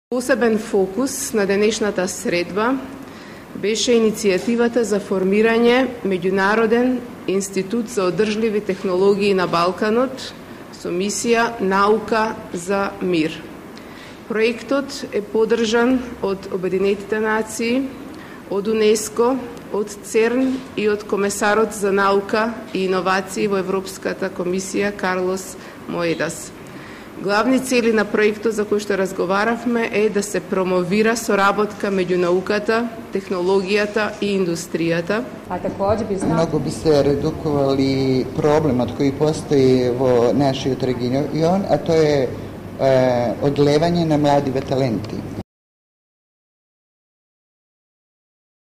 Посебен фокус на денешната средба беше иницијативата за формирање Меѓународен институт за одржливи технологии на Балканот со мисија Наука за мир. Проектот е поддржан од Обединетите нации, од УНЕСКО, од ЦЕРН и од Комесарот за наука и иновации во Европската комисија Карлос Моедас. Главни цели на проектот за кој што разговаравме е да се промовира соработка меѓу науката, технологијата и индустријата. Многу би се редуковали проблемот кој постои во нашиот регион, а тоа е одлевање на младиве таленти.